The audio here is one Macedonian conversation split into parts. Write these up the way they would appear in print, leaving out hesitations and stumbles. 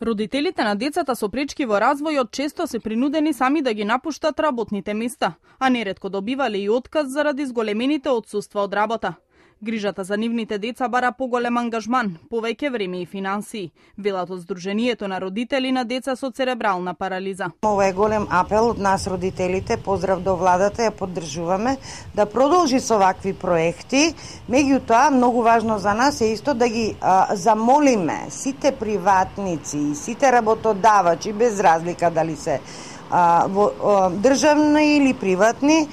Родителите на децата со пречки во развојот често се принудени сами да ги напуштат работните места, а неретко добивале и отказ заради зголемените отсуства од работа. Грижата за нивните деца бара поголем ангажман, повеќе време и финансии, велат од Сдруженијето на родители на деца со церебрална парализа. Ова е голем апел од нас родителите, поздрав до владата, ја поддржуваме да продолжи со вакви проекти. Меѓутоа, многу важно за нас е исто да ги замолиме сите приватници, сите работодавачи, без разлика дали се државни или приватни,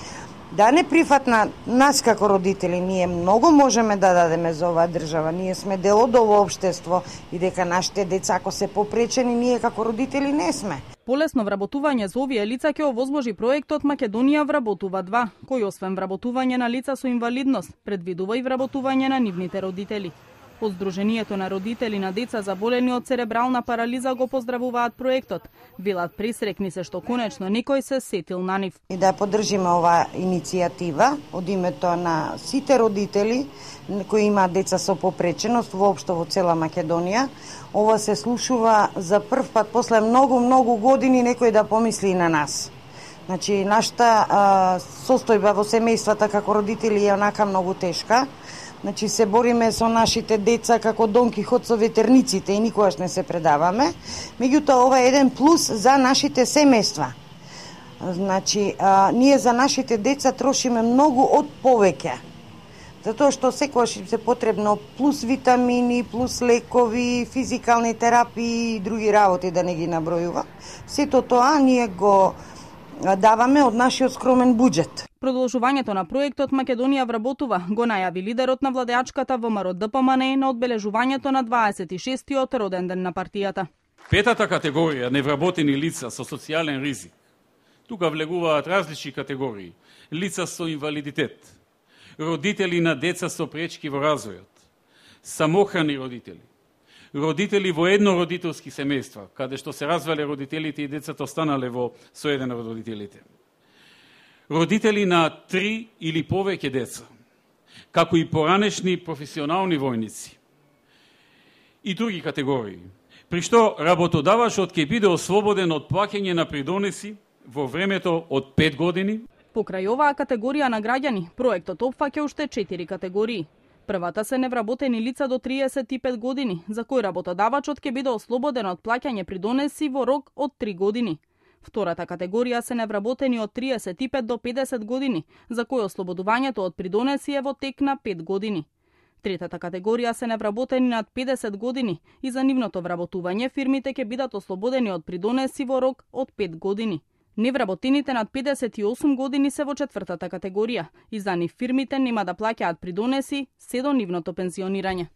да не прифатна нас како родители. Ние многу можеме да дадеме за оваа држава. Ние сме дел од ово општество и дека нашите деца ако се попречени, ние како родители не сме. Полесно вработување за овие лица ќе овозможи проектот Македонија вработува 2, кој освен вработување на лица со инвалидност, предвидува и вработување на нивните родители. Од Сдруженијето на родители на деца заболени од церебрална парализа го поздравуваат проектот. Велат пресрекни се што конечно некој се сетил на нив. И да поддржиме оваа иницијатива од името на сите родители кои имаат деца со попреченост воопшто во цела Македонија. Ова се слушува за прв пат после многу години некој да помисли и на нас. Значи, нашата состојба во семејствата како родители е онака многу тешка. Значи, се бориме со нашите деца како Дон Кихот со ветерниците и никогаш не се предаваме. Меѓутоа, ова е еден плюс за нашите семејства. Значи, ние за нашите деца трошиме многу од повеќе. Затоа што секогаш се потребно плюс витамини, плюс лекови, физикални терапии и други работи, да не ги набројува. Сето тоа ние го даваме од нашиот скромен буџет. Продолжувањето на проектот Македонија вработува го најави лидерот на владеачката ВМРО ДПМНЕ на одбележувањето на 26-тиот роден ден на партијата. Петата категорија невработени лица со социјален ризик. Тука влегуваат различни категории: лица со инвалидитет, родители на деца со пречки во развојот, самохрани родители, родители во еднородителски семејства, каде што се развале родителите и децата останале со еден од родителите, родители на 3 или повеќе деца, како и поранешни професионални војници и други категории, при што работодавачот ќе биде ослободен од плаќање на придонеси во времето од 5 години. Покрај оваа категорија на граѓани, проектот опфаќа уште 4 категории. Првата се невработени лица до 35 години, за кои работодавачот ќе биде ослободен од плаќање придонеси во рок од 3 години. Втората категорија се невработени од 35 до 50 години, за кои ослободувањето од придонеси е во тек на 5 години. Третата категорија се невработени над 50 години и за нивното вработување фирмите ќе бидат ослободени од придонеси во рок од 5 години. Невработените над 58 години се во четвртата категорија и за нив фирмите нема да плаќаат придонеси се до нивното пензионирање.